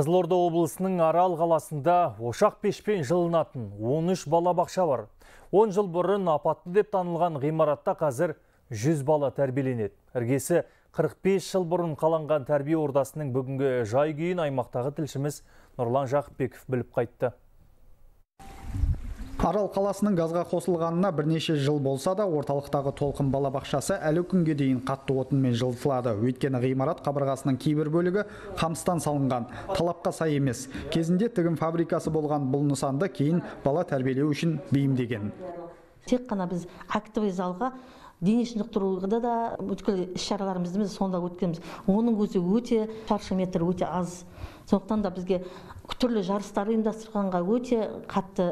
Қызылорда облысының Арал қаласында ошақ пешпен жылынатын 13 балабақша бар. 10 жыл бұрын апатты деп танылған ғимаратта қазір 100 бала тәрбиеленеді. Іргесі 45 жыл бұрын қаланған тәрбие ордасының бүгінгі жай күйін аймақтағы тілшіміз Нұрлан Жақыпбеков біліп қайтты. Арал қаласының газға қосылғанына бірнеше жыл болса да, орталықтағы толқын балабақшасы әлі күнге дейін қатты отынмен жылытылады. Өйткені ғимарат қабырғасының кейбір бөлігі қамыстан салынған, талапқа сай емес. Кезінде тігін фабрикасы болған бұл нысанды кейін бала тәрбиелеу үшін бейімдеген. Тек қана біз актовый залға дене шынықтыруға да бүткіл іс-шараларымызды сонда өткенбіз. Оның өзі өте шаршы метр өте аз. Сондықтан да бізге түрлі жарыстар ұйымдастырғанға өте қатты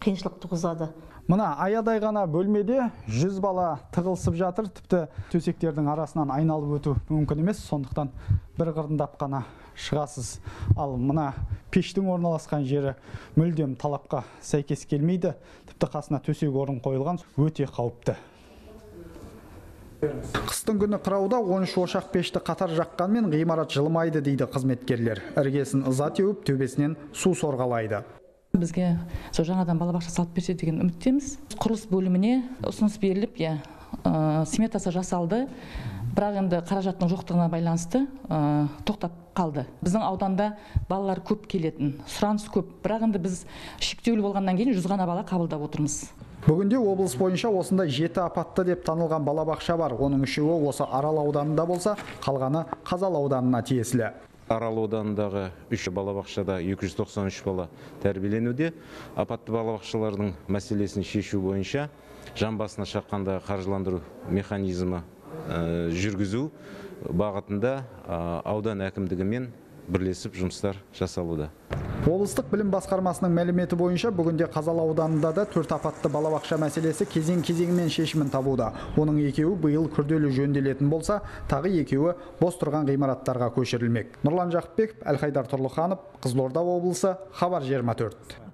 қиыншылық туғызады. Мына аядай ғана бөлмеде 100 бала тығылысып жатыр, тіпті төсектердің арасынан айналып өту мүмкін емес, сондықтан бір қырындап қана шығасыз. Ал мына пештің орналасқан жері мүлдем талапқа сәйкес келмейді, тіпті қасына төсек орын қойылған, өте қауіпті. Қыстың күні қырауда 13 ошақ пешті қатар жаққанмен ғимарат жылымайды дейді қызметкерлер. Іргесін ыза теуіп, төбесінен су сорғалайды. Бізге сол жаңадан балабақша салып берсе деген үміттеміз. Құрылыс бөліміне ұсыныс беріліп, сметасы жасалды. Бірақ енді қаражаттың жоқтығына байланысты тоқтап қалды. Біздің ауданда балалар көп келетін, сұраныс көп. Бірақ енді біз шектеулі болғаннан кейін 100 ғана бала қабылдап отырмыз. Бүгінде облыс бойынша осындай 7 апатты деп танылған балабақша бар. Оның үшеуі осы Арал ауданында болса, қалғаны Қазал ауданына тиесілі. Арал ауданындағы 3 балабақшада 293 бала тәрбиеленуде. Апатты балабақшалардың мәселесін шешу бойынша жан басына шаққанда қаржыландыру механизмі жүргізу бағытында аудан әкімдігімен бірлесіп жұмыстар жасалуда. Облыстық білім басқармасының мәліметі бойынша бүгінде Қазал ауданында да 4 апатты балабақша мәселесі кезең-кезеңмен шешімін табуда. Оның екеуі биыл күрделі жөнделетін болса, тағы екеуі бос тұрған ғимараттарға көшірілмек. Нұрлан Жақыпбеков, Әлхайдар Тұрлыханов, Қызылорда облысы, Хабар 24.